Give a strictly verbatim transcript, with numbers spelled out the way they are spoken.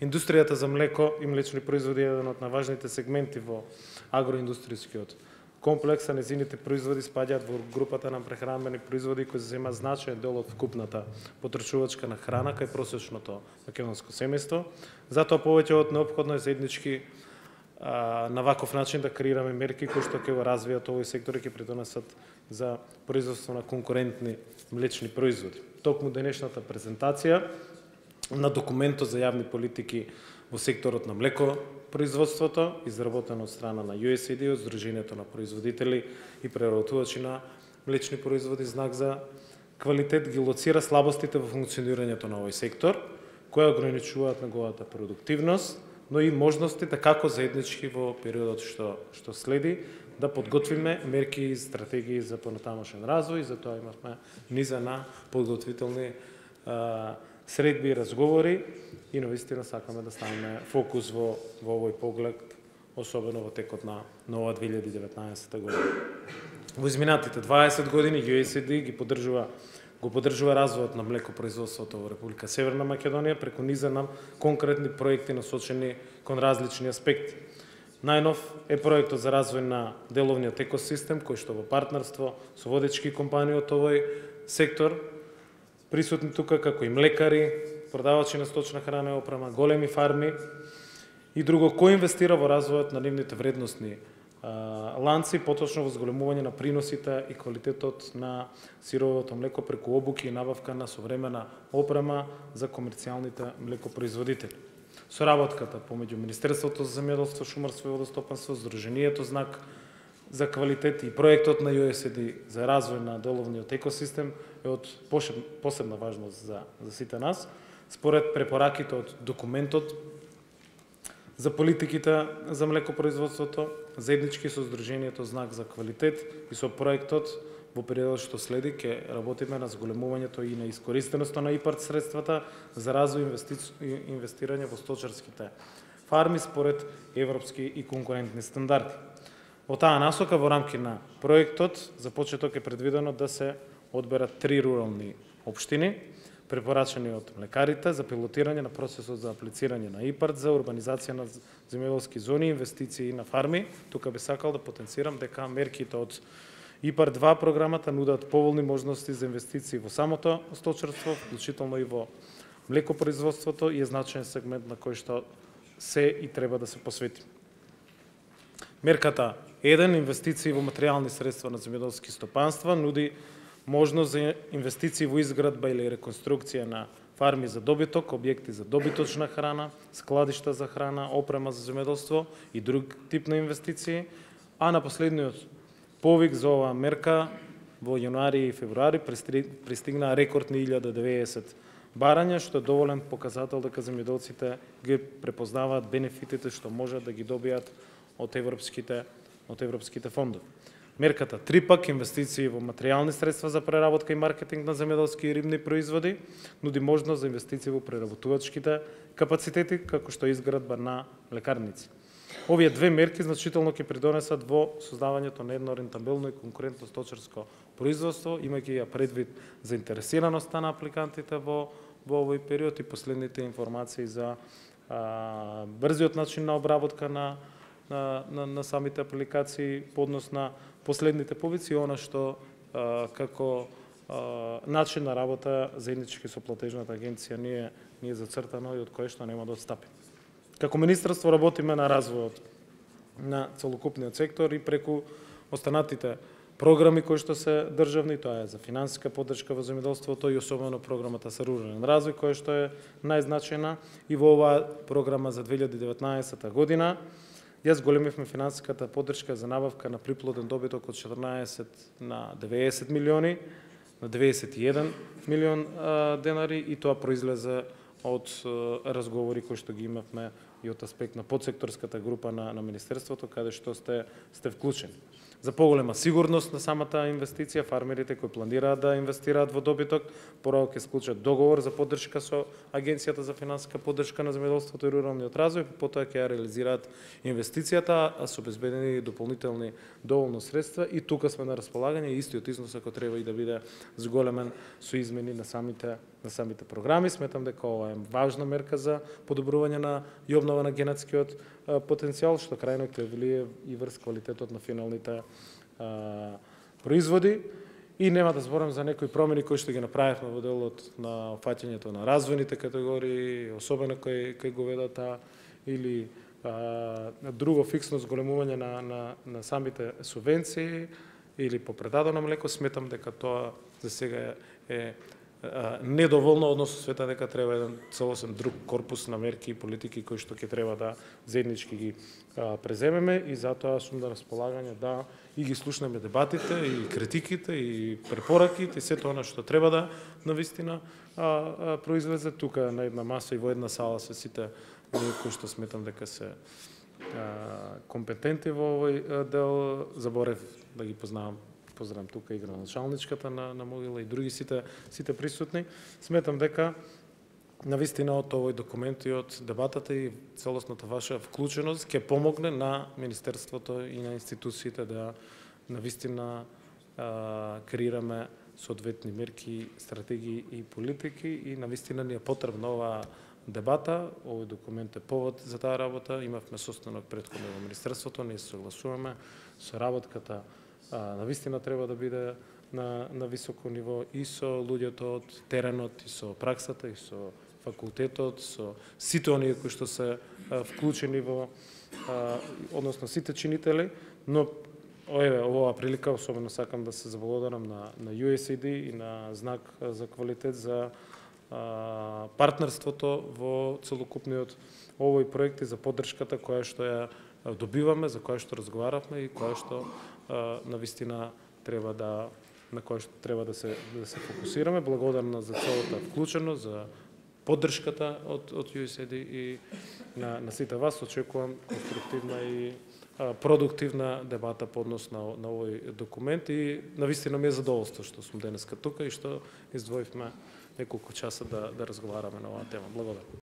Индустријата за млеко и млечни производи е еден од најважните сегменти во агроиндустријскиот комплекс, а незините производи спаѓаат во групата на прехранбени производи кои земаат значаен дел од вкупната потребувачка на храна кај просечното македонско семејство. Затоа повеќе од неопходно е заеднички а, на ваков начин да креираме мерки кои што ќе го развијат овој сектор и ќе придонесат за производство на конкурентни млечни производи. Токму денешната презентација на документот за јавни политики во секторот на млеко производството, изработено од страна на ю ес ей ди, од Сдруженијето на производители и преработувачи на млечни производи, знак за квалитет, ги лоцира слабостите во функционирањето на овој сектор, кои ограничуваат неговата продуктивност, но и можностите како заеднички во периодот што што следи да подготвиме мерки и стратегии за понатамошен развој, и затоа имавме низа на подготвителни а, средби и разговори и навистина сакаме да ставиме фокус во, во овој поглед, особено во текот на нова две илјади и деветнаесетта година. Во изминатите дваесет години ю ес ей ди ги поддржува го поддржува развојот на млекопроизводството во Република Северна Македонија преку низа на конкретни проекти насочени кон различни аспекти. Најнов е проектот за развој на деловниот екосистем, кој што во партнерство со водечки компании од овој сектор, присутни тука како и млекари, продавачи на сточна храна и опрема, големи фарми и друго, кој инвестира во развојот на нивните вредносни а, ланци, поточно во зголемување на приносите и квалитетот на сировото млеко преку обуки и набавка на современа опрема за комерцијалните млекопроизводители. Соработката помеѓу Министерството за земјоделство, шумарство и водостопанство, Сдруженијето знак за квалитет и проектот на ю ес ей ди за развој на деловниот екосистем е од посебна важност за, за сите нас. Според препораките од документот за политиките за млекопроизводството, заеднички со Сдруженијето знак за квалитет и со проектот во периодот што следи ќе работиме на зголемувањето и на искористеноста на ИПАРД средствата за развој и инвестирање во сточарските фарми според европски и конкурентни стандарди. Во таа насока, во рамки на проектот, за почеток е предвидено да се одберат три рурални општини, препорачани од млекарите за пилотирање на процесот за аплицирање на ИПАРД за урбанизација на земјоделски зони, инвестиции на фарми. Тука би сакал да потенцирам дека мерките од ИПАРД два програмата нудат поволни можности за инвестиции во самото сточарство, вклучително и во млекопроизводството, и е значаен сегмент на кој што се и треба да се посвети. Мерката еден, инвестиции во материјални средства на земјоделски стопанства, нуди можност за инвестиции во изградба или реконструкција на фарми за добиток, објекти за добиточна храна, складишта за храна, опрема за земјоделство и друг тип на инвестиции, а на последниот повик за оваа мерка во јануари и февруари пристигнаа рекордни илјада деветдесет барања, што е доволен показател дека земјоделците ги препознаваат бенефитите што можат да ги добијат од европските од европските фондови. Мерката три пак, инвестиции во материјални средства за преработка и маркетинг на земјоделски и рибни производи, нуди можност за инвестиции во преработувачките капацитети, како што изградба на лекарници. Овие две мерки значително ќе придонесат во создавањето на едно рентабелно и конкурентно сточарско производство, имајќи ја предвид заинтересираноста на апликантите во, во овој период и последните информации за а, брзиот начин на обработка на На, на, на самите апликации, поднос на последните повици и она што а, како а, начин на работа заеднички со платежната агенција ние ние зацртано и од кое што нема да отстапи. Како министерство работиме на развојот на целокупниот сектор и преку останатите програми кои што се државни, тоа е за финансиска поддршка во земјоделството и особено програмата за рурален развој, која што е најзначајна, и во оваа програма за две илјади и деветнаесетта година ја зголемивме финансиската поддршка за набавка на приплоден добиток од четрнаесет на деветдесет милиони, на деветдесет и еден милион а, денари, и тоа произлезе од а, разговори кои што ги имавме и од аспект на подсекторската група на, на Министерството, каде што сте, сте вклучени. За поголема сигурност на самата инвестиција, фармерите кои планираат да инвестираат во добиток, прво ќе склучат договор за поддршка со Агенцијата за финансиска поддршка на земјоделството и руралниот развој, потоа ќе ја реализираат инвестицијата, а со обезбедени дополнителни доволно средства, и тука сме на располагање, истиот износ ако треба и да биде зголемен со измени на самите на самите програми. Сметам дека ова е важна мерка за подобрување на и обнова на генетскиот потенцијал, што крајно ќе влие и врз квалитетот на финалните а, производи. И нема да зборам за некои промени кои што ги направивме во делот на опфаќањето на развојните категории, особено кои кои го ведата, или а, друго фиксно зголемување на, на, на самите субвенции или по предадено млеко. Сметам дека тоа за сега е, е а, недоволно, односно света дека треба еден целосен друг корпус на мерки и политики кои што ќе треба да заеднички ги а, преземеме, и затоа сум на располагање да и ги слушнеме дебатите, и критиките, и препораките, и сето она што треба да навистина а, а, произлезе тука на една маса и во една сала се сите оние кои што сметам дека се а, компетенти во овој дел. Заборев да ги познавам, поздравам тука и градоначалничката на, на Могила и други сите, сите присутни. Сметам дека навистина од овој документ и од дебатата и целосната ваша вклученост ќе помогне на Министерството и на институциите да навистина а, креираме соодветни мерки, стратегии и политики, и навистина ни е потребна оваа дебата. Овој документ е повод за таа работа. Имавме состанок претходно во Министерството, ние се согласуваме со работката. А, навистина треба да биде на, на високо ниво и со луѓето од теренот, и со праксата, и со факултетот, со сите оние кои што се а, вклучени во, а, односно сите чинители, но еве оваа прилика особено сакам да се заблагодарам на, на ю ес ей ди и на Знак за квалитет за а, партнерството во целокупниот овој проект и за поддршката која што ја добиваме, за која што разговаравме и која што а, навистина треба да на која што треба да се да се фокусираме. Благодарна за целата вклученост, за поддршката од од ю ес ей ди и на на сите вас. Очекувам конструктивна и а, продуктивна дебата по однос на, на овој документ, и навистина ми е задоволство што сум денеска тука и што издвоивме неколку часа да да разговараме на оваа тема. Благодарам.